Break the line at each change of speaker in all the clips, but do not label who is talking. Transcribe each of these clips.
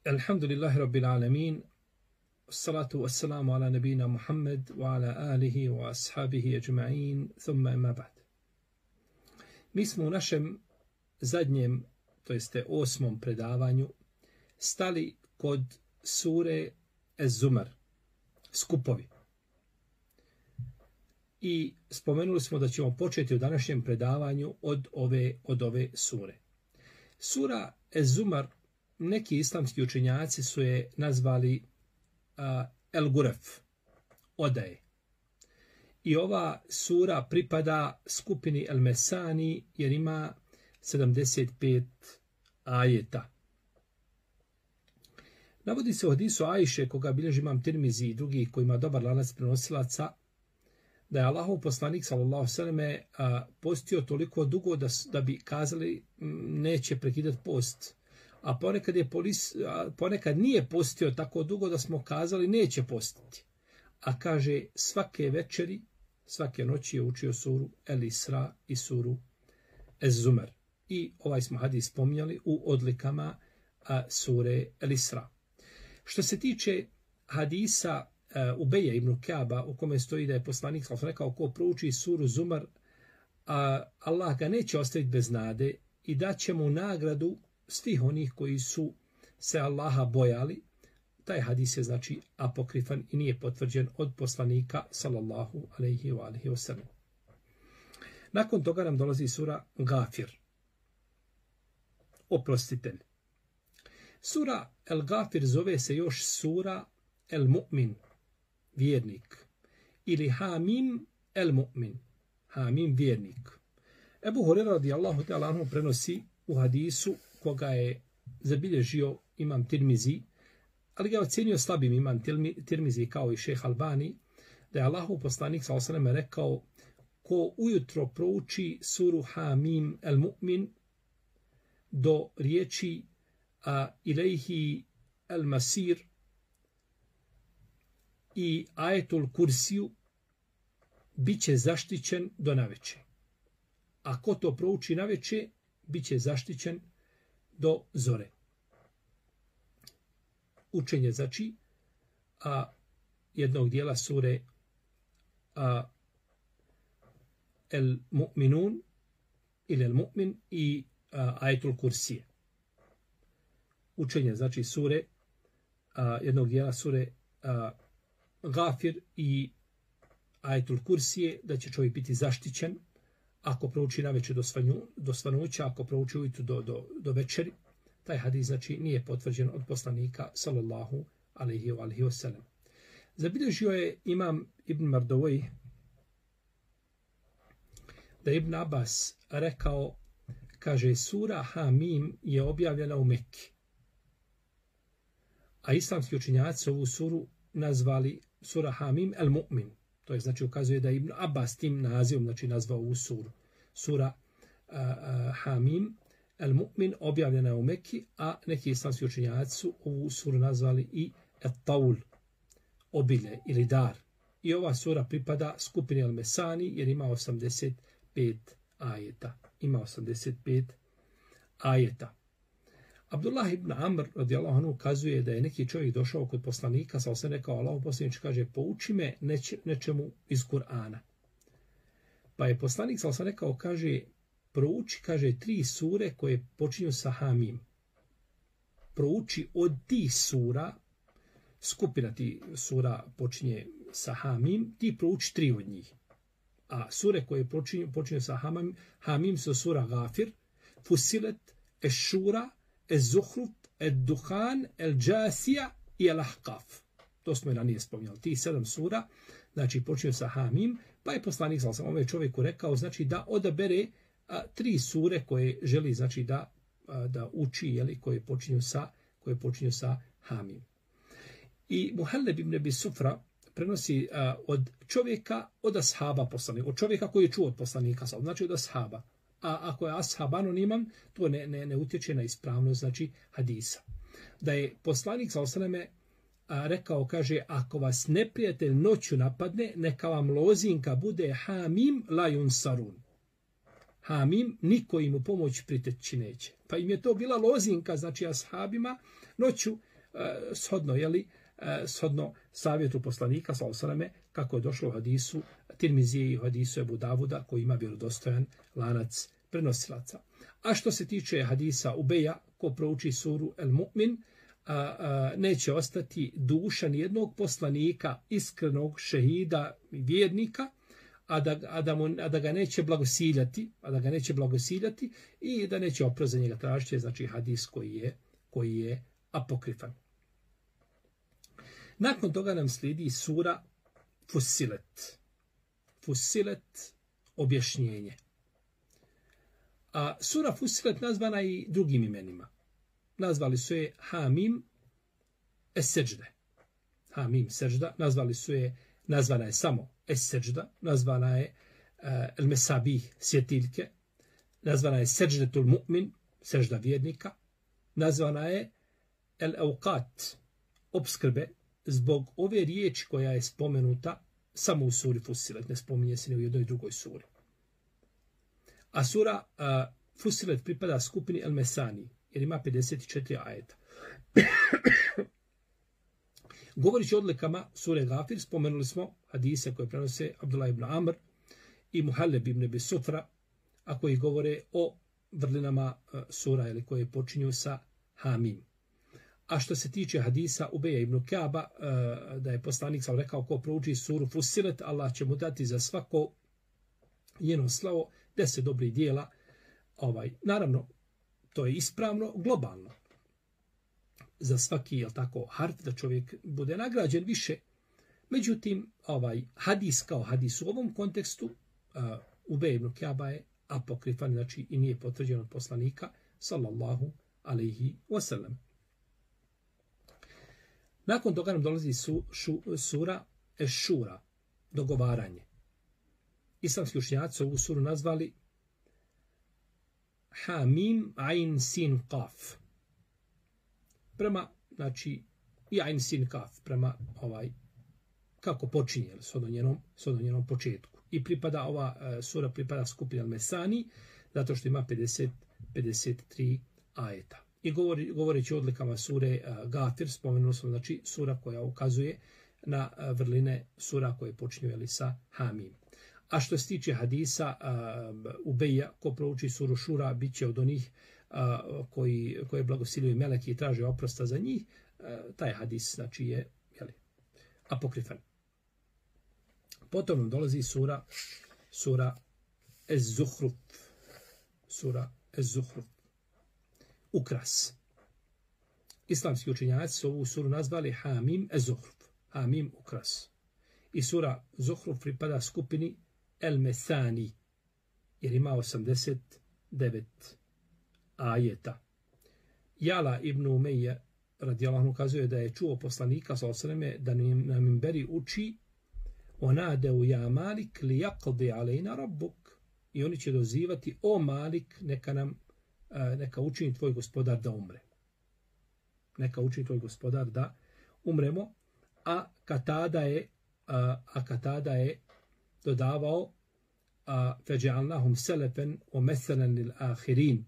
Alhamdulillahi Rabbil Alamin, salatu wassalamu ala nabina Muhammed wa ala alihi wa ashabihi ajma'in, thumma ima ba'd. Mi smo u našem zadnjem, to jeste 8. predavanju, stali kod sure Ez-Zumar, skupovi. I spomenuli smo da ćemo početi u današnjem predavanju od ove sure. Sura Ez-Zumar, neki islamski učenjaci su je nazvali El-Guref, odaje. I ova sura pripada skupini El-Mesani jer ima 75 ajeta. Navodi se u hadisu Ajše, koga bilježi Imam Tirmizi i drugi koji ima dobar lanac prenosilaca, da je Allahov poslanik sallallahu alejhi postio toliko dugo da bi kazali neće prekidati post. A ponekad nije postio tako dugo da smo kazali neće postiti. A kaže svake večeri, svake noći je učio suru El-Isra i suru Ez-Zumar. I ovaj smo hadis spominjali u odlikama sure El-Isra. Što se tiče hadisa Ubeja ibn Ka'ba, u kome stoji da je poslanik rekao ko prouči suru Zumar, Allah ga neće ostaviti bez nade i daće mu nagradu svih onih koji su se Allaha bojali. Taj hadis je znači apokrifan i nije potvrđen od poslanika sallallahu alejhi ve sellem. Nakon toga nam dolazi sura Gafir, oprostitelj. Sura El Gafir zove se još sura El Mu'min, vjernik, ili Hamim El Mu'min, Hamim vjernik. Ebu Hurera radijallahu ta'ala anhu prenosi u hadisu koga je zabilježio Imam Tirmizi, ali ga ocenio slabim Imam Tirmizi kao i šejh Albani, da je Allahov poslanik sallallahu alejhi ve sellem rekao ko ujutro prouči suru Hamim El Mu'min do riječi ilejhi El Masir i ajetul Kursiju, bit će zaštićen do naveče. A ko to prouči naveče, bit će zaštićen do zore. Učenje znači jednog dijela sure El Mu'minun ili El Mu'min i ajetul Kursije. Učenje znači sure jednog dijela sure Gafir i ajetul Kursije, da će čovjek biti zaštićen ako prouči naveče do svanuća, ako prouči ujutru do večeri. Taj hadis znači nije potvrđen od poslanika sallallahu alejhi ve sellem. Zabilježio je Imam Ibn Mardawai da Ibn Abbas rekao, kaže sura Hamim je objavljena u Mekki. A islamski učenjaci ovu suru nazvali sura Hamim El Mu'min. To je znači ukazuje da Ibn Abbas tim nazivom znači nazvao ovu suru. Sura Hamim El Mu'min objavljena je u Mekki, a neki islamski učenjaci su ovu suru nazvali i Et-Taul, obilje ili dar. I ova sura pripada skupini Al-Mesani jer ima 85 ajeta. Ima 85 ajeta. Abdullah ibn Amr radijallahu anhu kazuje da je neki čovjek došao kod poslanika, sa se rekao Allahov poslanik kaže pouči me nečemu iz Kur'ana. Pa je poslanik sa se rekao kaže prouči kaže 3 sure koje počinju sa Hamim. Prouči od tih sura, skupina ti sura počinje sa Hamim, ti prouči 3 od njih. A sure koje počinju sa Hamim su sura Gafir, Fusilet, Eš-Šura, Ez-Zuhruf, Ed-Duhan, El-Džasija i El-Ahqaf. To smo i ranije spominjali. Ti 7 sura, znači počinju sa Hamim, pa je poslanik sam ovaj čovjeku rekao, znači da odabere 3 sure koje želi znači da uči, jeli, koje počinju sa Hamim. I Muhalleb ibn Abi Sufra prenosi od čovjeka, od ashaba poslanika, od čovjeka koji je čuo od poslanika, znači od ashaba. A ako je ashab anoniman, to ne utječe na ispravnost znači hadisa. Da je poslanik sallallahu alejhi ve sellem rekao, kaže, ako vas neprijatelj noću napadne, neka vam lozinka bude Hamim la yunsarun. Hamim, niko im u pomoć priteći neće. Pa im je to bila lozinka, znači ashabima, noću shodno savjetu poslanika, sallallahu kako je došlo u hadisu Tirmizije i u hadisu Ebu Davuda, koji ima vjerodostojan lanac prenosilaca. A što se tiče hadisa Ubeja, ko prouči suru El Mu'min, neće ostati duša nijednog poslanika, iskrenog šehida i vjernika, a da ga neće blagosiljati i da neće oprost za njega tražiti, znači hadis koji je apokrifan. Nakon toga nam slijedi sura Fussilet. Fussilet, objašnjenje. A sura Fussilet nazvana i drugim imenima. Nazvali su je Hamim Es-Seđde. Hamim Seđda. Nazvana je samo Es-Seđda. Nazvana je El-Mesabih, svjetiljke. Nazvana je Seđdetul Mu'min, sežda vjernika. Nazvana je El-Auqat, opskrbe, zbog ove riječi koja je spomenuta samo u suri Fussilet, ne spominje se ni u jednoj drugoj suri. A sura Fussilet pripada skupini El-Mesani, jer ima 54 ajeta. Govorići o odlikama sure Gafir, spomenuli smo hadise koje prenose Abdullah ibn Amr i Muhalleb ibn Abi Sufra, a koji govore o vrlinama sura ili koje počinju sa Hamim. A što se tiče hadisa Ubeja ibn Ka'ba, da je poslanik sam rekao ko prouči suru Fussilet, Allah će mu dati za svako njeno slavo 10 dobrih dijela. Naravno, to je ispravno globalno. Za svaki, harf da čovjek bude nagrađen više. Međutim, hadis kao hadis u ovom kontekstu Ubej ibn Ka'ba je apokrifan, znači i nije potvrđen od poslanika, sallallahu alaihi wasallam. Nakon toga nam dolazi sura Eš-Šura, dogovaranje. Islamski učenjaci ovu suru nazvali Hamim Ain Sin Qaf. Prema, znači, i Ain Sin Qaf, prema kako počinje, s njenom početku. I ova sura pripada skupini Al-Mesani, zato što ima 53 ajeta. I govoreći o odlikama sure Gafir, spomenuli smo, znači, sura koja ukazuje na vrline sura koje počinju sa Hamim. A što se tiče hadisa Ubeja, ko prouči suru Šura, bit će od onih koje blagosiljuju meleki i traže oprosta za njih. Taj hadis, znači, je apokrifan. Potom nam dolazi sura Ez-Zuhruf. Sura Ez-Zuhruf. Ukras. Islamski učenjaci su ovu suru nazvali Hamim Ez-Zuhruf. Hamim ukras. I sura Zuhruf pripada skupini El-Mesani, jer ima 89 ajeta. Jala ibn Umeje radijallahu anhu kazuje da je čuo poslanika sallallahu da na minberi uči onadeu ja Malik li yaqdi alejna rabbuk. I oni će dozivati o Malik, neka učini tvoj gospodar da umre. Neka učini tvoj gospodar da umremo. A Katada je dodavao feđa'alnahum selefen o meselen lil ahirin.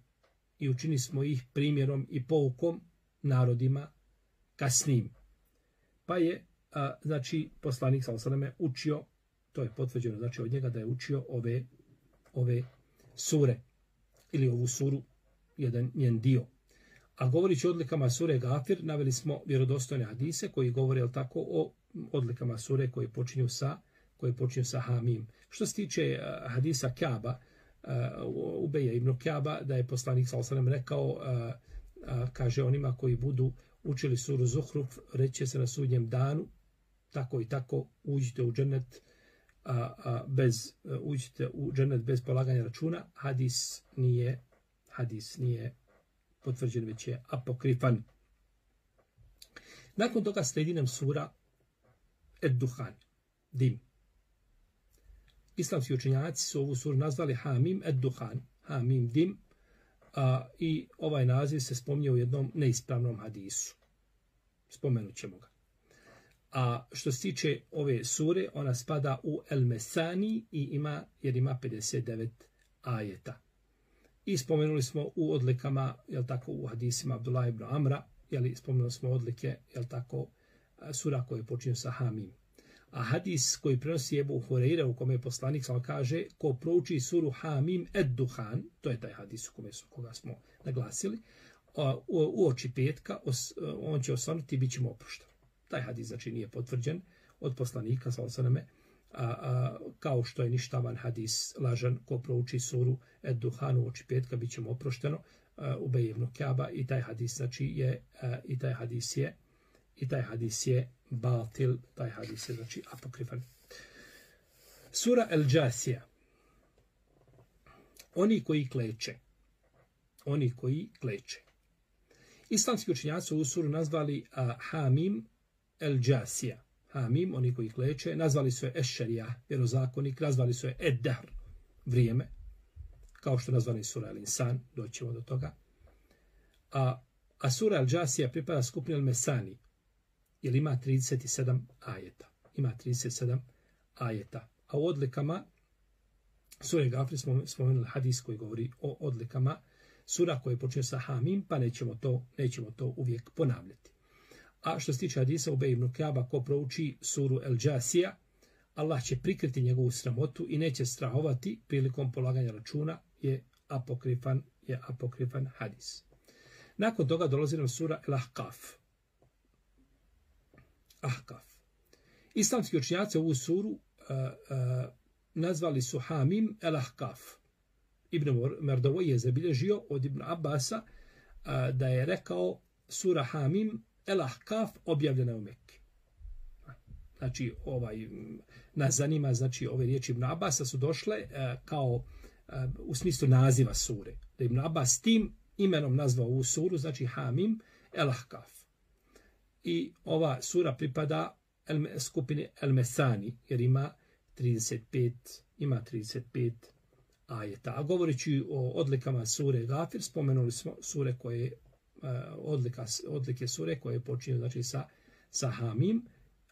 I učini smo ih primjerom i poukom narodima kasnim. Pa je, znači, poslanik sallallahu učio, to je potvrđeno, znači, od njega da je učio ove sure, ili ovu suru, jedan njen dio. A govorići o odlikama sure Gafir, naveli smo vjerodostojne hadise koji govore o odlikama sure koje počinju sa Hamim. Što se tiče hadisa Ka'ba, Ubeja ibn Ka'ba, da je poslanik sallallahu rekao, kaže onima koji budu učili suru Zuhruf, reće se na sudnjem danu, tako i tako, uđite u džennet bez polaganja računa. Hadis nije potvrđen, već je apokrifan. Nakon toga slijedi nam sura Ed-Duhan, dim. Islamski učenjaci su ovu suru nazvali Hamim Ed-Duhan, Hamim dim, i ovaj naziv se spominje u jednom neispravnom hadisu. Spomenut ćemo ga. A što se tiče ove sure, ona spada u El-Mesani jer ima 59 ajeta. I spomenuli smo u odlikama, jel tako, u hadisima Abdullah ibn Amra, jel, spomenuli smo odlike, jel tako, sura koje počinju sa Hamim. A hadis koji prenosi Ebu Hureyre, u kome je poslanik sam kaže, ko prouči suru Hamim ed-Duhan, to je taj hadis u koga smo naglasili, u oči petka, on će osvanuti i bit će mu oprošten. Taj hadis znači nije potvrđen od poslanika, kao što je ništavan hadis lažan, ko prouči suru ed-Duhan u oči petka, bit će mu oprošteno, Ubej ibn Ka'ba, i taj hadis znači je, i taj hadis je batil, taj hadis je znači apokrifan. Sura El-Džasija. Oni koji kleče. Islamski učenjaci u suru nazvali Hamim El-Džasija. Hamim, oni koji kleče, nazvali su je Eš-Šarija, vjerozakonik, nazvali su je Ed-Dahr, vrijeme, kao što nazvali sura El-Insan, doćemo do toga. A sura El-Džasija pripada skupini El-Mesani, jer ima 37 ajeta. A u odlikama sura Gafir smo spomenuli hadis koji govori o odlikama sura koje počinje sa Hamim, pa nećemo to uvijek ponavljati. A što se tiče hadisa Ubej ibn Ka'ba, ko prouči suru El-Džasija, Allah će prikriti njegovu sramotu i neće strahovati prilikom polaganja računa, je apokrifan hadis. Nakon toga dolazi nam sura El-Ahqaf. Islamski učenjaci ovu suru nazvali su Hamim El-Ahqaf. Ibn Merdavoj je zabilježio od Ibn Abbasa da je rekao sura Hamim El-Ahqaf objavljena u Mekki. Znači, nas zanima, znači, ove riječi Ibn Abbasa su došle kao u smislu naziva sure. Da Ibn Abbas tim imenom nazvao ovu suru, znači Hamim El-Ahqaf. I ova sura pripada skupini El-Mesani, jer ima 35 ajeta. A govoreći o odlikama sure Gafir, spomenuli smo sure koje odlike sure koje počinju znači sa Hamim,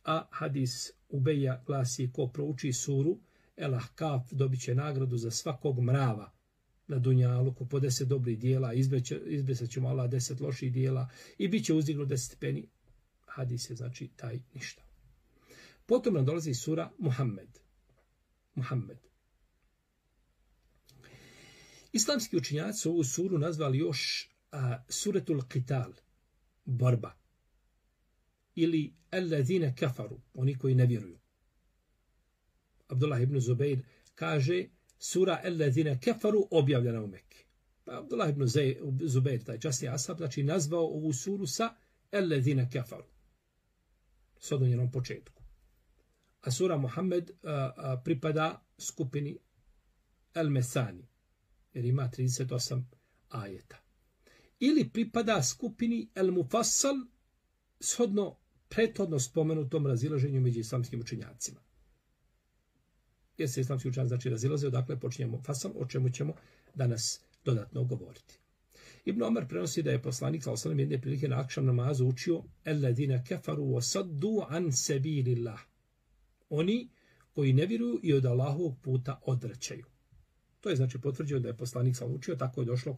a hadis Ubeja glasi ko prouči suru El-Ahqaf dobit će nagradu za svakog mrava na dunjaluku po 10 dobrih dijela, izbrisat ćemo Allah 10 loših dijela i bit će uzdignut 10 stepeni. Hadis je znači taj ništa. Potom nam dolazi sura Muhammed. Islamski učenjaci su ovu suru nazvali još Suratul Qital, borba. Ili Allazine kafaru, oni koji ne vjeruju. Abdullah ibn Zubair kaže sura Allazine kafaru objavljena u Mekki. Pa Abdullah ibn Zubair, taj časni ashab, znači nazvao ovu suru sa Allazine kafaru. S odnjenom početku. A sura Muhammed pripada skupini El-Mesani, jer ima 38 ajeta. Ili pripada skupini El-Mufassal, shodno prethodno spomenutom razilaženju među islamskim učenjacima. Jer se islamski učenjaci znači razilaze, odakle počinjemo Fasal, o čemu ćemo danas dodatno govoriti. Ibn Omer prenosi da je poslanik sallallahu alejhi ve sellem jedne prilike na akšam namazu učio Alladine kafaru wa saddu an sabilillah. Oni koji ne vjeruju i od Allahovog puta odvraćaju. To je znači potvrđeno da je poslanik sallallahu učio, tako je došlo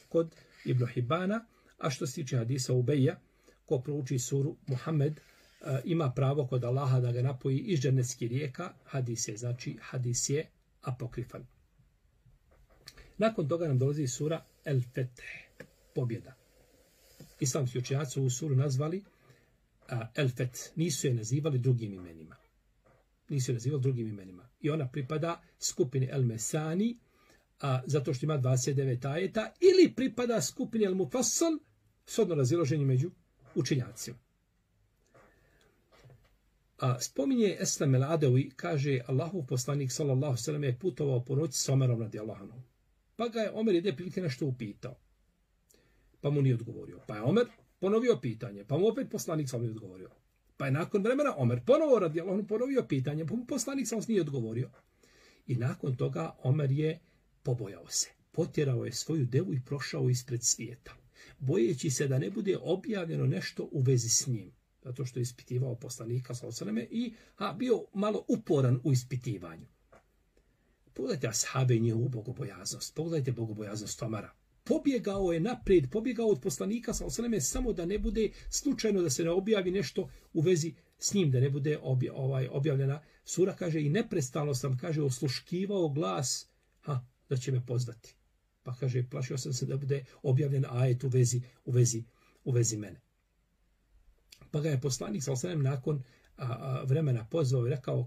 kod Ibn Hibana, a što se tiče hadisa Ubeja, ko prouči suru Muhammed, ima pravo kod Allaha da ga napoji iz džennetskih rijeka, hadis je apokrifan. Nakon toga nam dolazi sura El-Feteh, pobjeda. Islamski učenjaci ovu suru nazvali El-Feteh, nisu je nazivali drugim imenima. I ona pripada skupini El-Mesani, zato što ima 29 ajeta, ili pripada skupini El-Mufassal, shodno razilaženje među učenjacima. Spominje Eslam el-Adawi, kaže Allahov poslanik sallallahu alejhi ve sellem je putovao po noći s Omerom radijallahu anhu. Pa ga je Omer jedne prilike nešto upitao. Pa mu nije odgovorio. Pa je Omer ponovio pitanje, pa mu opet poslanik sallallahu alejhi ve sellem odgovorio. Pa je nakon vremena Omer ponovo radijallahu anhu ponovio pitanje, pa mu poslanik sallallahu alejhi ve sellem nije odgovorio. I nakon toga Omer je pobojao se. Potjerao je svoju devu i prošao ispred svijeta, bojeći se da ne bude objavljeno nešto u vezi s njim, zato što je ispitivao poslanika sallallahu alejhi ve selleme i bio malo uporan u ispitivanju. Pogledajte ashabe i njihovu bogobojaznost. Pogledajte bogobojaznost Omara. Pobjegao je naprijed, pobjegao od poslanika sallallahu samo da ne bude slučajno da se ne objavi nešto u vezi s njim, da ne bude objavljena sura, kaže, i neprestano sam, kaže, osluškivao glas, da će me pozvati. Pa kaže, plašio sam se da bude objavljen ajet u vezi mene. Pa ga je poslanik sallallahu nakon vremena pozvao i rekao,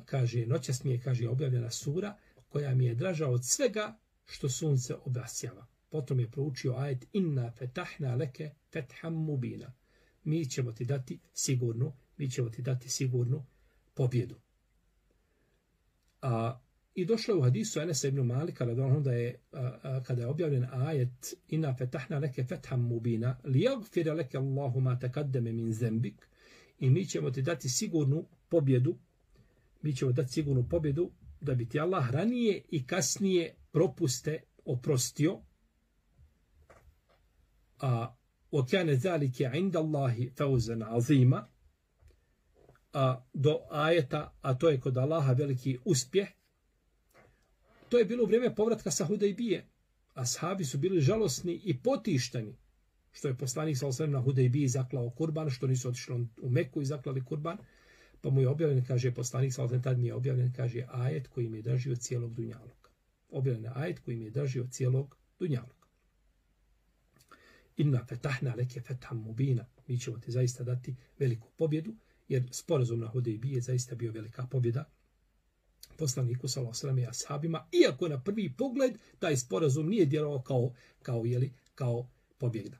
kaže, noćas mi je, kaže, objavljena sura koja mi je draža od svega što sunce obasjava. Potom je proučio ajet inna fetahna leke fetham mubina. Mi ćemo ti dati sigurnu pobjedu. I došlo je u hadisu Enesa ibn Malika da je kada je objavljen ajet inna fetahna leke fetham mubina liyaghfira leke Allahu ma taqaddama min zembik, i mi ćemo ti dati sigurnu pobjedu. Mi ćemo dati sigurnu pobjedu da bi ti Allah ranije i kasnije propuste oprostio. وَكَانَ ذَلِكَ عِنْدَ اللَّهِ فَوْزًا عَظِيمًا, do ajeta, a to je kod Allaha veliki uspjeh. To je bilo u vrijeme povratka sa Hudejbije. Ashabi su bili žalosni i potišteni što je poslanik sallallahu na Hudejbiji zaklao kurban, što nisu otišli u Meku i zaklali kurban. Pa mu je objavljen, kaže poslanik sallallahu tad mi je objavljen, kaže, ajet koji mi je držio cijelog dunjaluka. Objavljen je ajet koji mi je držio cijelog dunjaluka. Inna fetahna leke fetham mubina. Mi ćemo ti zaista dati veliku pobjedu, jer sporazum na Hudejbiji je zaista bio velika pobjeda poslaniku sallallahu alejhi ve sellem i ashabima, iako na prvi pogled taj sporazum nije djelovao kao pobjeda.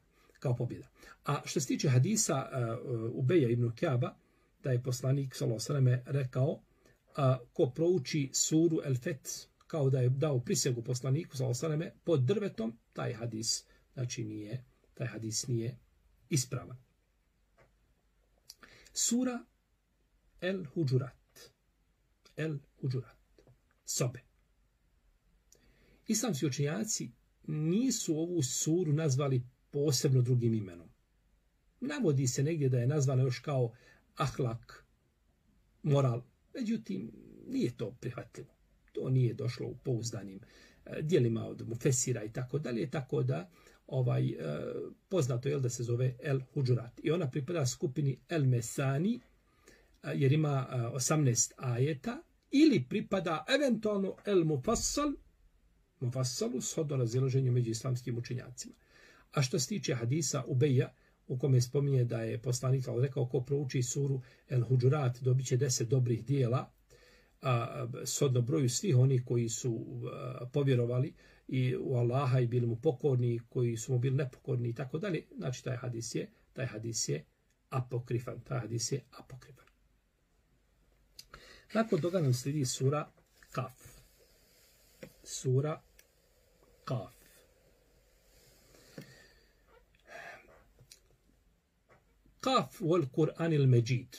A što se tiče hadisa Ubeja ibn Kaba, da je poslanik sallallahu alejhi ve sellem rekao, ko prouči suru El Fet kao da je dao prisegu poslaniku sallallahu alejhi ve sellem pod drvetom, taj hadis nije ispravan. Sura El Huđurat. Sobe. Islamski učenjaci nisu ovu suru nazvali posebno drugim imenom. Navodi se negdje da je nazvana još kao ahlak, moral. Međutim, nije to prihvatljivo. To nije došlo u pouzdanim dijelima od mufesira i tako dalje, tako da poznato je da se zove El Huđurat. I ona pripada skupini El Mesani, jer ima 18 ajeta, ili pripada eventualno El Mufassalu, shodno razilaženju među islamskim učenjacima. A što se tiče hadisa Ubeja, u kome spominje da je poslanik rekao, ko prouči suru El Huđurat dobit će 10 dobrih dijela, shodno broju svih onih koji su povjerovali i u Allaha i bili mu pokorni, koji su mu bili nepokorni i tako dalje. Znači, taj hadis je apokrifan. Nakon toga nam slijedi sura Kaf. Kaf wal Kur'anil Međid.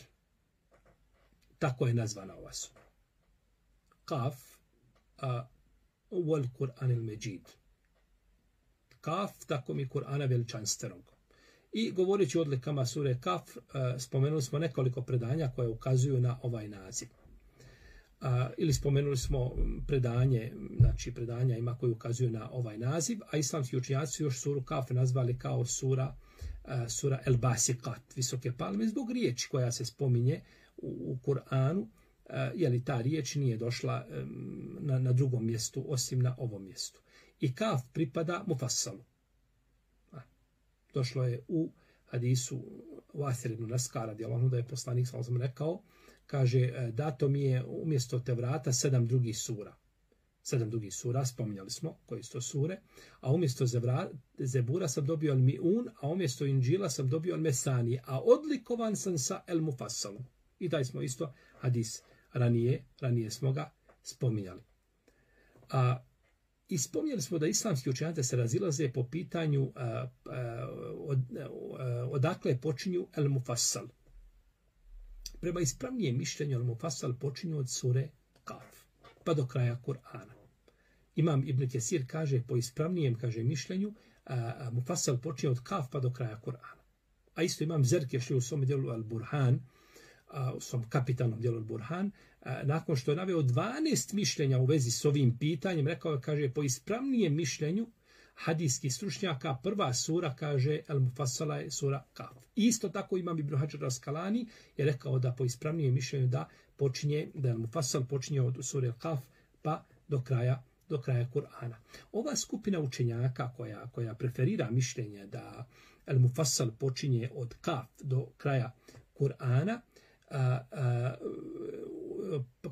Tako je nazvana ova sura. Kaf wal Kur'anil Međid. Kaf, tako mi Kur'ana veličanstvenog. I govoreći o odlikama sure Kaf, spomenuli smo nekoliko predanja koje ukazuju na ovaj naziv. Ili spomenuli smo predanja ima koji ukazuju na ovaj naziv, a islamski učenjaci još suru Kaf nazvali kao sura El Basikat, visoke palme, zbog riječi koja se spominje u Kur'anu, jer ta riječ nije došla na drugom mjestu osim na ovom mjestu. I Kaf pripada Mufassalu. Došlo je u hadisu Vasir ibn Naskara, da je poslanik sallallahu alejhi ve sellem rekao, kaže, dato mi je umjesto Tevrata 7 drugih sura. 7 drugih sura, spominjali smo koji su to sure, a umjesto Zebura sam dobio El Mi'un, a umjesto Inđila sam dobio El Mesani, a odlikovan sam sa El Mufassalom. I taj smo isto hadis ranije smo ga spominjali. I spominjali smo da islamski učenjaci se razilaze po pitanju odakle počinju El Mufassal. Prema ispravnijem mišljenju El Mufassal počinju od sure Kaf pa do kraja Kur'ana. Imam Ibn Kesir kaže po ispravnijem mišljenju Mufassal počinje od Kaf pa do kraja Kur'ana. A isto imam Zerkeš u svom djelu Al Burhan u svom kapitalnom djelu Burhan, nakon što je naveo 12 mišljenja u vezi s ovim pitanjem, rekao je, kaže, po ispravnijem mišljenju hadijskih stručnjaka, prva sura, kaže, Al-Mufassala je sura Kaf. Isto tako imam Ibn Hajar Al-Asqalani je rekao da po ispravnijem mišljenju da Al-Mufassal počinje od sure Kaf pa do kraja Kur'ana. Ova skupina učenjaka koja preferira mišljenje da Al-Mufassal počinje od Kaf do kraja Kur'ana,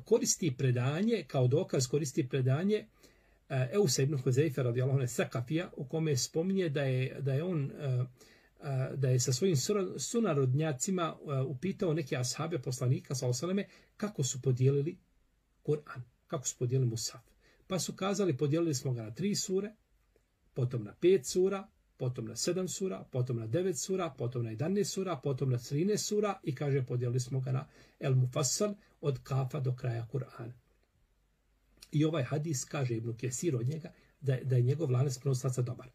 koristi predanje, kao dokaz koristi predanje Eusa ibn Huzeyfe radijallahu anhu Sakafija, u kome spominje da je sa svojim sunarodnjacima upitao neke ashabe poslanika sallallahu alejhi ve selleme kako su podijelili Kur'an, kako su podijelili Musaf. Pa su kazali, podijelili smo ga na 3 sure, potom na 5 sura, potom na 7 sura, potom na 9 sura, potom na 11 sura, potom na 13 sura i kaže podijelili smo ga na El Mufassal od Kafa do kraja Kur'ana. I ovaj hadis, kaže Ibn Kesir od njega, da je njegov lanac prenosilaca dobar.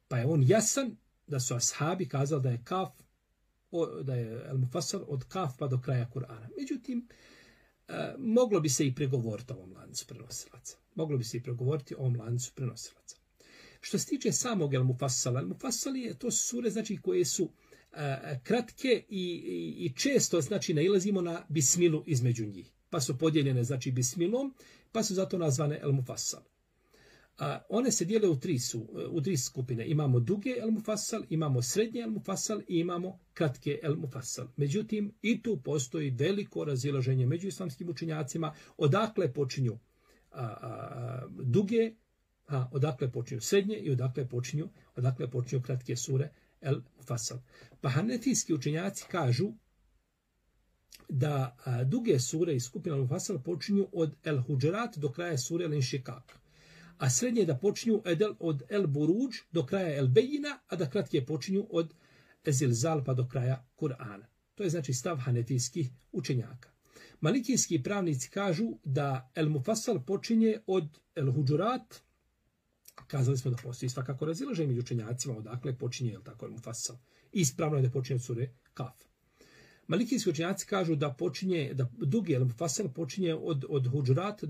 Pa je on jasan da su ashabi kazali da je Kaf, da je El Mufassal od Kaf pa do kraja Kur'ana. Međutim, moglo bi se i pregovoriti o ovom lancu prenosilaca. Moglo bi se i pregovoriti o ovom lancu prenosilaca. Što se tiče samog El Mufassala, El Mufassal je to sure, znači, koje su kratke i često, znači, nailazimo na bismilu između njih. Pa su podijeljene, znači, bismilom, pa su zato nazvane El Mufassal. One se dijele u tri skupine. Imamo duge El Mufassal, imamo srednje El Mufassal i imamo kratke El Mufassal. Međutim, i tu postoji veliko razilaženje među islamskim učenjacima, odakle počinju duge, odakle počinju srednje i odakle počinju kratke sure El Mufassal. Pa hanefijski učenjaci kažu da duge sure iz skupina El Mufassal počinju od El Huđerat do kraja sure El Inšikak, a srednje da počinju od El Buruđ do kraja El Bejina, a da kratke počinju od Zilzal pa do kraja Kur'ana. To je znači stav hanefijskih učenjaka. Malikijski pravnici kažu da El Mufassal počinje od El Huđurat. Kazali smo da postoji svakako razilaženje među učenjacima odakle počinje El Mufassal. Ispravno je da počinje od sure Kaf. Malikijski učenjaci kažu da dugi El Mufassal počinje od Huđurat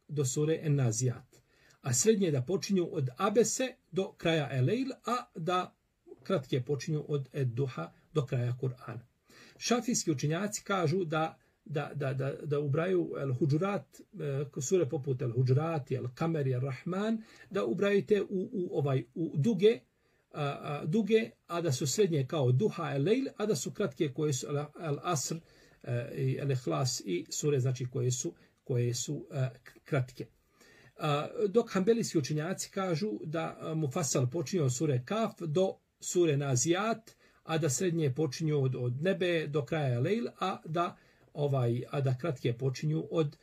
do sure En-Nazijat, a srednje da počinju od Abese do kraja El-Lejl, a da kratke počinju od Ed-Duha do kraja Kur'ana. Šafijski učenjaci kažu da ubraju El-Huđurat, sure poput El-Huđurat, El-Kamer, El-Rahman, da ubraju te u duge, a da su srednje kao Duha, El-Lejl, a da su kratke koje su El-Asr, El-Ihlas i sure, znači koje su kratke. Dok hanbelijski učenjaci kažu da Mufassal počinje od sure Kaf do sure Nazijat, a da srednje počinju od Nebe do kraja Lejl, a da kratke počinju od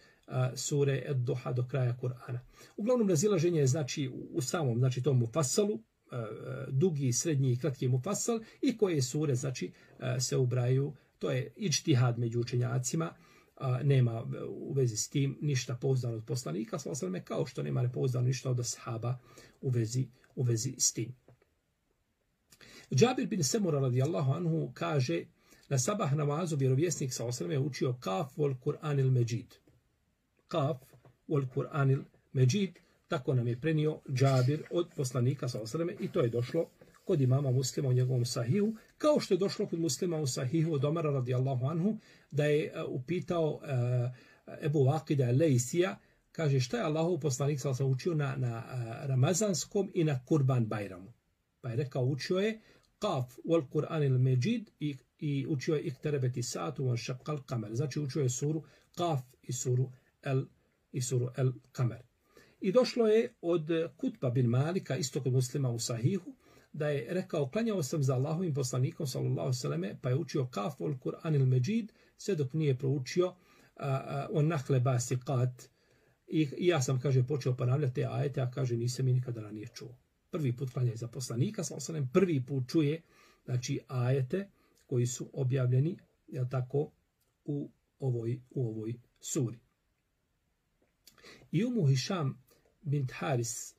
sure Ed-Duha do kraja Kur'ana. Uglavnom razilaženje je znači u samom, znači tom Mufassalu, dugi, srednji i kratki Mufassal, i koje sure znači se ubraju. To je iđtihad među učenjacima. Nema u vezi s tim ništa pouzdano od poslanika, kao što nema nepouzdano ništa od ashaba u vezi s tim. Džabir bin Semura radijallahu anhu kaže, na sabah namazu vjerovjesnik je učio Kaf wal Kur'anil Međid. Kaf wal Kur'anil Međid, tako nam je prenio Džabir od poslanika i to je došlo kod imama Muslima u njegovom sahihu, kao što je došlo kod Muslima u sahihu od Omara radijallahu anhu, da je upitao Ebu Vakida Lejsija, kaže šta je Allahov poslanik učio na Ramazanskom i na Kurban Bajramu. Pa je rekao, učio je Kaf wal Kur'anil Međid i učio je Ikterebeti satu wal šaqqal kamer. Znači učio je suru Kaf i suru El Kamer. I došlo je od Kutba bin Malika, isto kod Muslima u sahihu, da je rekao, klanjao sam za Allahovim poslanikom, sallallahu alejhi ve selleme, pa je učio Kaf wal Kur'anil Međid, sve dok nije proučio on Nahle Basiqat. I ja sam, kaže, počeo ponavljati te ajete, a kaže, nisam i nikada ranije čuo. Prvi put klanja za poslanika, sallallahu alejhi ve sellem, prvi put čuje, znači, ajete koji su objavljeni, jel tako, u ovoj suri. I Hišam bint Haris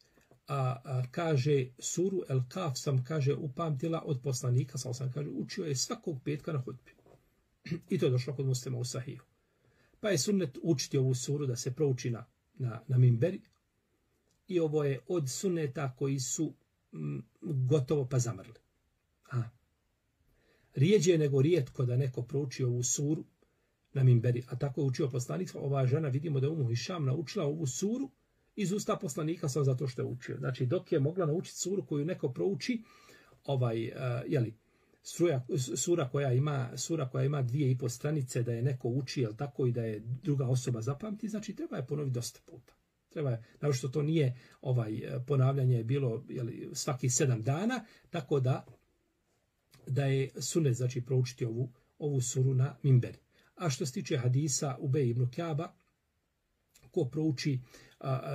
kaže, suru El Kaf sam, kaže, upamtila od poslanika, kaže, učio je svakog petka na hutbi. I to je došlo kod Muslima u Sahihu. Pa je sunnet učiti ovu suru da se prouči na minberi. I ovo je od sunneta koji su gotovo pa zamrli. Rijeđe nego rijetko da neko prouči ovu suru na minberi. A tako je učio poslanik. Ova žena, vidimo da je Umu Hišam naučila ovu suru iz usta poslanika samo zato što je učio. Znači, dok je mogla naučiti suru koju neko prouči, sura koja ima 2,5 stranice, da je neko uči, tako i da je druga osoba zapamti, znači treba je ponoviti dosta puta. Naravno što to nije ponavljanje je bilo svaki 7 dana, tako da je sunnet, znači proučiti ovu suru na minberi. A što se tiče hadisa Ubej ibn Ka'ba, ko prouči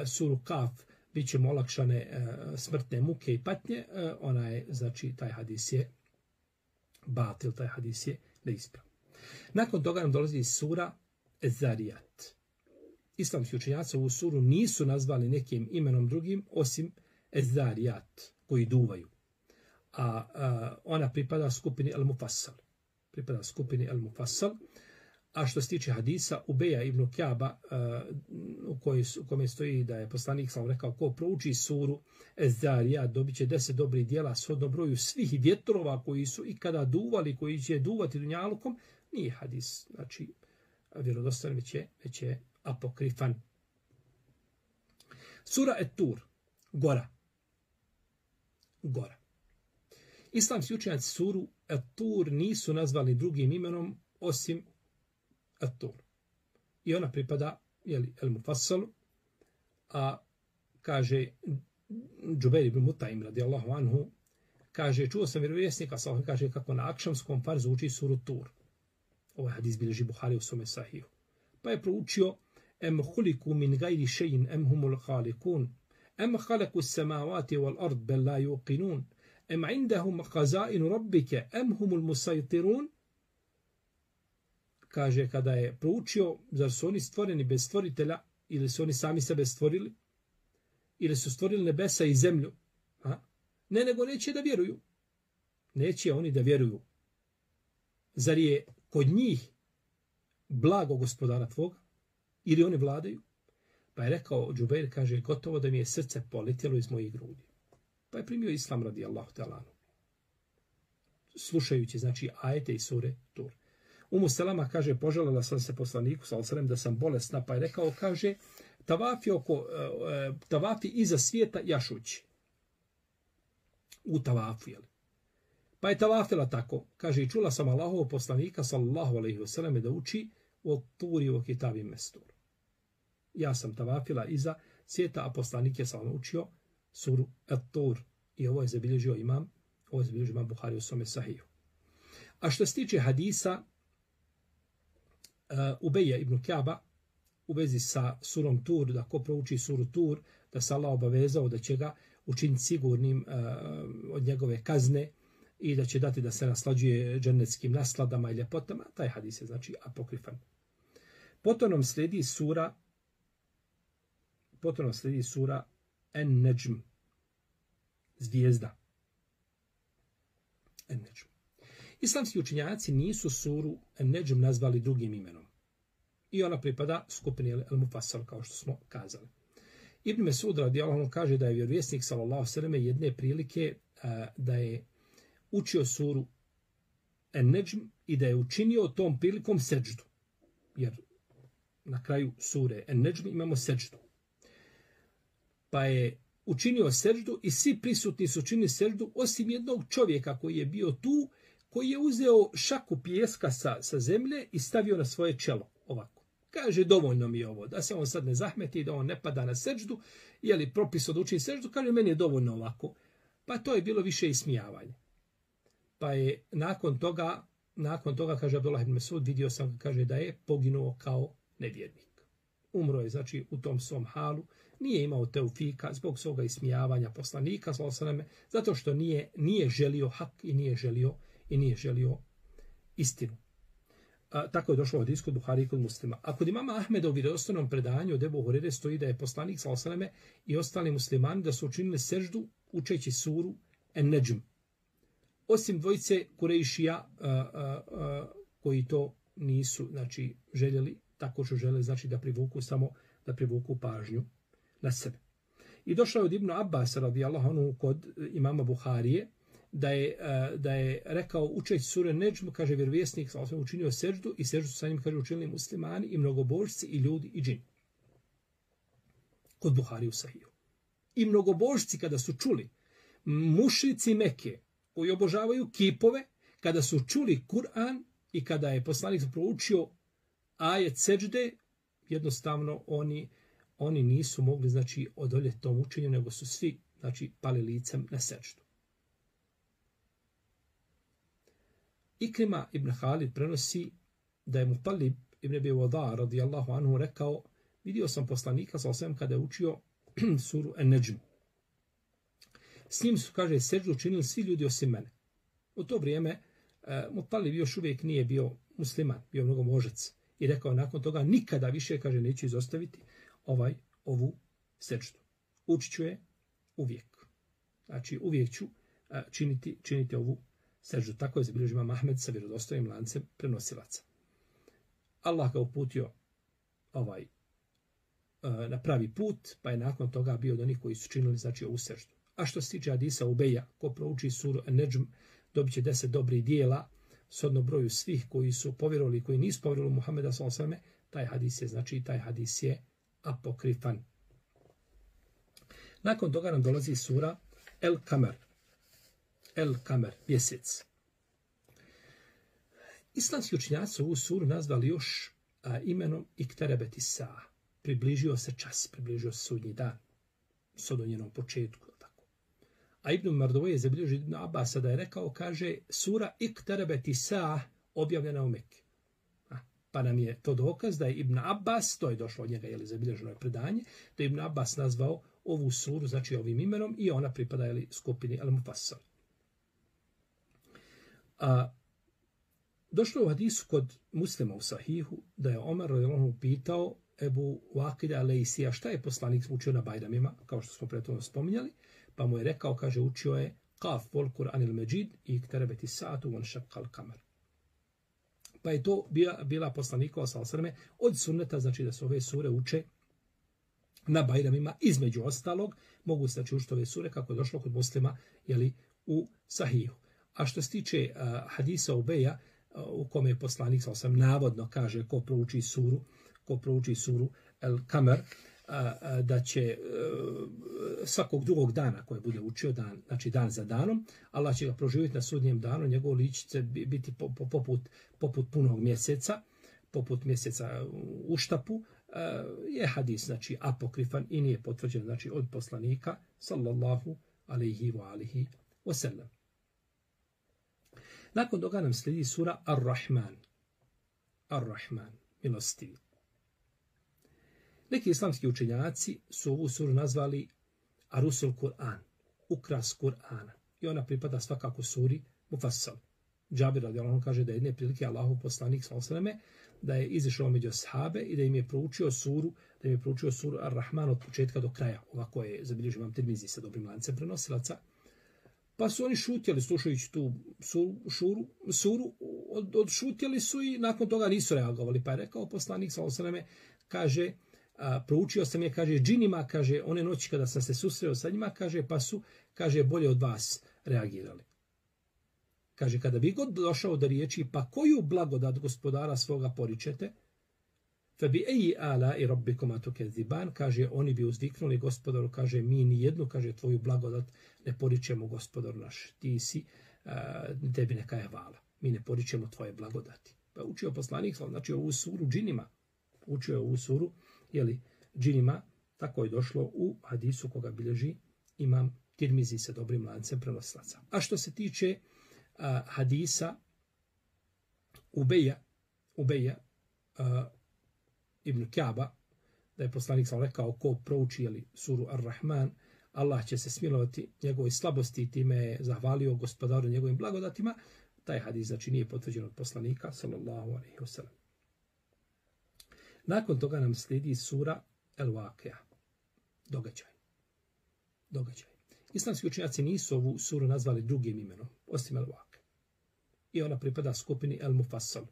suru Kaf, bit će mu olakšane smrtne muke i patnje, ona je, znači, taj hadis je batil, taj hadis je neispravan. Nakon toga nam dolazi sura Ez-Zarijat. Islamski učenjaci ovu suru nisu nazvali nekim imenom drugim, osim Ez-Zarijat, koji duvaju. A ona pripada skupini Al-Mufassal. A što se tiče hadisa Ubeja ibn Ka'ba, u kome stoji da je poslanik sam rekao, ko prouči suru Ez-Zarijat dobit će 10 dobrih djela shodno broju svih vjetrova koji su ikada duvali, koji će duvati dunjalukom, nije hadis, znači vjerodostojan, već je apokrifan. Sura Et-Tur, gora. Islamski učenjaci suru Et-Tur nisu nazvali drugim imenom osim Et-Tur. I ona pripada El-Mufassalu, a kaže Džubeir ibn Mutaim radijallahu anhu, kaže, čuo sam vjerovjesnika, kaže kako na akšamskom farzu uči suru Tur. Ovaj hadis bilježi Buhari u svome Sahihu. Pa je proučio em huliku min gajri še'in em humul halikun, em halaku samavati wal ard bel la yuqinun, em indahum hazainu rabbike em humul musajtirun. Kaže, kada je proučio, zar su oni stvoreni bez stvoritelja, ili su oni sami sebe stvorili, ili su stvorili nebesa i zemlju. Ne, nego neće da vjeruju. Neće oni da vjeruju. Zar je kod njih blago gospodara tvoga? Ili oni vladaju? Pa je rekao Džubeir, kaže, gotovo da mi je srce poletjelo iz mojih grudi. Pa je primio islam radijallahu ta'ala. Slušajući, znači, ajete i sure Tur. Umu Selama kaže, poželjela sam se poslaniku sallallahu da sam bolesna, pa je rekao, kaže, tavafi iza svijeta jašući. U tavafu, jel? Pa je tavafila tako. Kaže, i čula sam Allahovog poslanika sallallahu alejhi ve selleme da uči o Turi o kitabi mestur. Ja sam tavafila iza svijeta, a poslanik je sam učio suru At-Tur. I ovo je zabilježio imam Buhari u svome Sahihu. A što se tiče hadisa Ubeja ibn Ka'ba u vezi sa surom Tur, da ko prouči suru Tur, da se Allah obavezao da će ga učiniti sigurnim od njegove kazne i da će dati da se naslađuje džennetskim nasladama i ljepotama, taj hadis je, znači, apokrifan. Potom nam sledi sura En-Neđm, zvijezda. En-Neđm. Islamski učenjaci nisu suru En-Neđm nazvali drugim imenom. I ona pripada skupini El-Mufassal, kao što smo kazali. Ibn Mesud radijallahu anhu kaže da je vjerovjesnik sallallahu alejhi ve selleme jedne prilike da je učio suru En-Neđm i da je učinio tom prilikom seđdu. Jer na kraju sure En-Neđm imamo seđdu. Pa je učinio seđdu i svi prisutni su učinili seđdu osim jednog čovjeka koji je bio tu, koji je uzeo šaku pijeska sa zemlje i stavio na svoje čelo ovako. Kaže, dovoljno mi je ovo, da se on sad ne zahmeti, da on ne pada na seđdu, je li propis od učini seđdu, kaže, meni je dovoljno ovako. Pa to je bilo više ismijavanje. Pa je nakon toga, kaže Abdullah ibn Mesud, vidio sam, kaže, da je poginuo kao nevjernik. Umro je, znači, u tom svom halu, nije imao teufika zbog svoga ismijavanja poslanika, zato što nije želio hak i nije želio istinu. Tako je došlo od isku Buhari i kod Muslima. A kod imama Ahmeda u vjerodostojnom predanju od Ebu Hurere stoji da je poslanik sallallahu i ostali muslimani da su učinili seždu učeći suru En-Neđm. Osim dvojice Kurejšija koji to nisu, znači, željeli, tako što žele, znači, da privuku pažnju na sebe. I došao je od Ibn Abbas, radijallahu anhu, kod imama Buharije, da je rekao učeći sure Nedžm, kaže vjerovjesnik, učinio seždu i seždu sa njim, kaže, učinili muslimani i mnogobožci i ljudi i džini. Kod Buhari u Sahiju. I mnogobožci kada su čuli, mušrici Mekke koji obožavaju kipove, kada su čuli Kur'an i kada je poslanik proučio ajet sežde, jednostavno oni nisu mogli, znači, odoljeti tom učenju, nego su svi, znači, pali licem na seždu. Ikrima ibn Halid prenosi da je Mutalib ibn Abi Wada radijallahu anhu rekao, vidio sam poslanika sa osvijem kada je učio suru An-Najm. S njim su, kaže, seždu učinili svi ljudi osim mene. U to vrijeme Mutalib još uvijek nije bio musliman, bio mnogobožac. I rekao nakon toga nikada više, kaže, neću izostaviti ovu seždu. Učit ću je uvijek. Znači uvijek ću činiti ovu seždu. Tako je zabilježio imam Ahmed sa vjerodostojnim lancem prenosilaca. Allah ga uputio na pravi put, pa je nakon toga bio od onih koji su činili, znači, ovu seždu. A što se tiče hadisa Ubeja, ko prouči suru An-Najm, dobit će 10 dobrih dijela, shodno broju svih koji su povjerovali i koji nisu povjerovali Muhameda s.a.v. Taj hadis je apokrifan. Nakon toga nam dolazi sura El-Kamer, mjesec. Islamski učenjaci ovu suru nazvali još imenom Ikterebeti Sa. Približio se čas, približio se sudnji dan, sad o njenom početku. Tako. A Ibn Mardovoje je zabilježio Ibn Abasa da je rekao, kaže, sura Ikterebeti Sa objavljena u Mekke. Pa nam je to dokaz da je Ibn Abbas, to je došlo od njega, zabilježeno je predanje, da je Ibn Abbas nazvao ovu suru, znači ovim imenom, i ona pripada skupini Al-Mufassal. Došlo u hadisu kod Muslima u Sahihu da je Omer radijallahu pitao Ebu Waqida Lejsija šta je poslanik učio na Bajramima, kao što smo prethodno spominjali, pa mu je rekao, kaže, učio je Qaf wal Qur'anil Majid i Ikterebeti Sa'atu wan Shaqqal Qamar. Pa je to bila poslanikova sallallahu od sunneta, znači da se ove sure uče na Bajramima, između ostalog, mogu se, znači, učiti ove sure kako je došlo kod Muslima, u Sahihu. A što se tiče hadisa Ubeja, u kome je poslanik navodno kaže ko prouči suru El-Kamer, da će svakog drugog dana koje bude učio, znači dan za danom, Allah će ga proživjeti na sudnjem danu, njegovo lice će biti poput punog mjeseca, poput mjeseca u štapu, je hadis, znači, apokrifan i nije potvrđen, znači, od poslanika, sallallahu alaihi wa alihi wa sallam. Nakon toga nam slijedi sura Ar-Rahman, milostivi. Neki islamski učenjaci su ovu suru nazvali Arusul Kur'an, ukras Kur'ana. I ona pripada svakako suri Mufassal. Džabir radijallahu anhu kaže da je jedne prilike Allahov poslanik sallallahu da je izišao među ashabe i da im je proučio suru Ar-Rahman od početka do kraja. Ovako je zabilježio imam Tirmizi sa dobrim lancem prenosilaca. Pa su oni šutjeli slušajući tu suru, odšutjeli su i nakon toga nisu reagovali. Pa je rekao poslanik sallallahu kaže, proučio sam je, kaže, džinima, kaže, one noći kada sam se susreo sa njima, kaže, pa su, kaže, bolje od vas reagirali. Kaže, kada bi god došao do riječi, pa koju blagodat gospodara svoga poričete, Fabi eji ala i rabbikuma tukeziban, kaže, oni bi uzviknuli gospodaru, kaže, mi ni jednu, kaže, tvoju blagodat ne poričemo, gospodaru naš, ti si, tebi neka je hvala, mi ne poričemo tvoje blagodati. Pa učio poslanik, znači ovu suru džinima, učio je ovu suru, džinima, tako je došlo u hadisu koga bilježi imam Tirmizi sa dobrim lancem prenosilaca. A što se tiče hadisa Ubeja ibn Ka'ba, da je poslanik sam rekao ko prouči suru Ar-Rahman, Allah će se smilovati njegove slabosti i time je zahvalio gospodaru njegovim blagodatima. Taj hadis, znači, nije potvrđen od poslanika, sallallahu alejhi ve sellem. Nakon toga nam slijedi sura El-Waqia, događaj. Islamski učenjaci nisu ovu suru nazvali drugim imenom, osim El-Waqia. I ona pripada skupini El-Mufassal.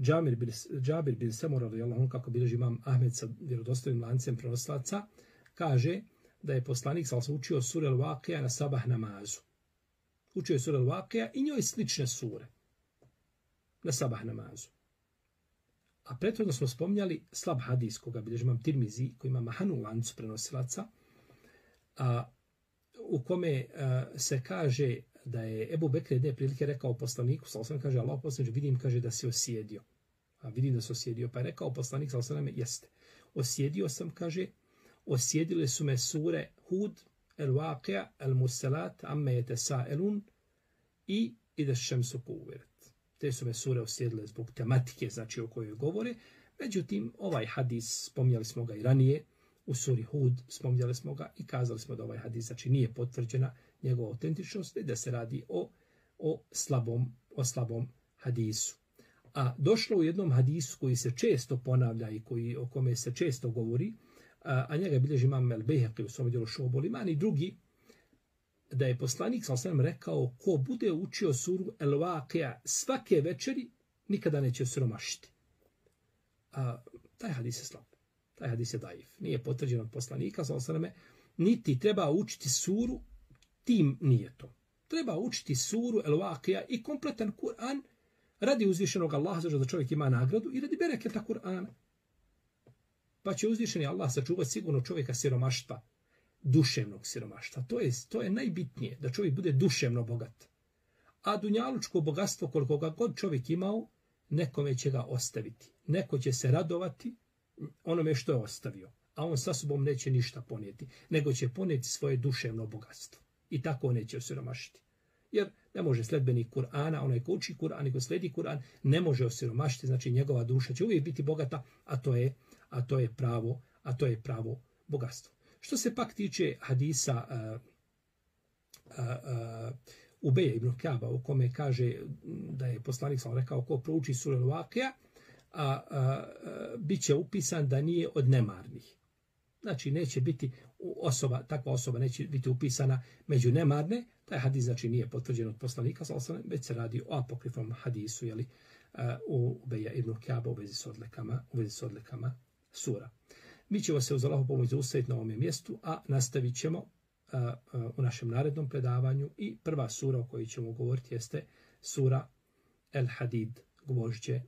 Džabir bin Samura radijallahu anhu, kako bilježi imam Ahmed sa vjerodostojnim lancem prenosilaca, kaže da je poslanik sallallahu učio sure Al-Waqija na sabah namazu. Učio je sure Al-Waqija i njoj slične sure na sabah namazu. A prethodno smo spominjali slab hadis koga bilježi imam Tirmizi, koji ima mahanu lancu prenosilaca, u kome se kaže da je Ebu Bekr jedne prilike rekao poslaniku, sallallahu kaže, Allah poslaniče, vidim, kaže, da si osjedio. A vidim da si osjedio. Pa je rekao poslanik, sallallahu jeste. Osjedio sam, kaže, osjedile su me sure Hud, El-Waqija, El-Mursalat, Amme Yetesa'elun i Ida Šemsu Kuvirat. Te su me sure osjedile zbog tematike, znači o kojoj govore. Međutim, ovaj hadis, spominjali smo ga i ranije, u suri Hud spominjali smo ga i kazali smo da ovaj hadis znači nije potvrđena njegova autentičnost i da se radi o slabom hadisu. A došlo u jednom hadisu koji se često ponavlja i o kome se često govori, a njega bilježi imam El-Bejhaqi u svom djelu Šu'abul Iman i drugi, da je poslanik sallallahu rekao ko bude učio suru El-Waqija svake večeri, nikada neće siromašiti. Taj hadis je slab. Taj hadis je daif. Nije potvrđen od poslanika sallallahu niti treba učiti suru tim nijetom. Treba učiti suru El-Waqija i kompletan Kur'an radi uzvišenog Allaha, da čovjek ima nagradu i radi bereketa Kur'ana. Pa će uzvišeni Allah sačuvati sigurno čovjeka siromaštva, duševnog siromaštva. To je najbitnije, da čovjek bude duševno bogat. A dunjalučko bogatstvo, koliko ga god čovjek imao, nekome će ga ostaviti. Neko će se radovati onome što je ostavio, a on sa sobom neće ništa ponijeti, nego će ponijeti svoje duševno bogatstvo. I tako neće osiromašiti. Jer ne može sledbenik Kur'ana, onaj ko uči Kur'an i ko sledi Kur'an, ne može osiromašiti, znači njegova duša će uvijek biti bogata, a to je pravo bogatstvo. Što se pak tiče hadisa Ubeja ibn Ka'ba, u kome kaže da je poslanik sam rekao ko prouči suru Al-Waqija, bit će upisan da nije od nemarnih. Znači neće biti takva osoba neće biti upisana među nemarne. Taj hadis znači nije potvrđen od poslanika, već se radi o apokrifnom hadisu, u Ubeja ibn Ka'ba u vezi s odlikama sura. Mi ćemo se uz Allahovu pomoć zaustaviti na ovom mjestu, a nastavit ćemo u našem narednom predavanju i prva sura o kojoj ćemo govoriti jeste sura El-Hadid. Govorit će,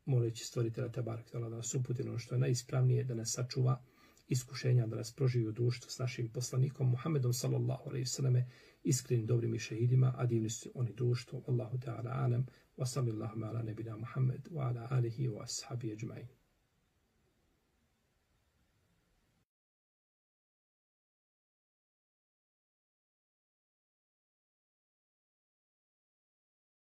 moleći stvoritelja Tebarek da nas uputi ono što je najispravnije, da nas sačuva iskušenja, da nas proživi u društvu s našim poslanikom Muhammedom sallallahu alejhi ve selleme, iskrenim dobrim i šehidima, a divni su oni društvo. Allahu ta'ala alam, wa sallallahu ala nebina Muhammed, wa ala alihi wa ashabi ajma'in.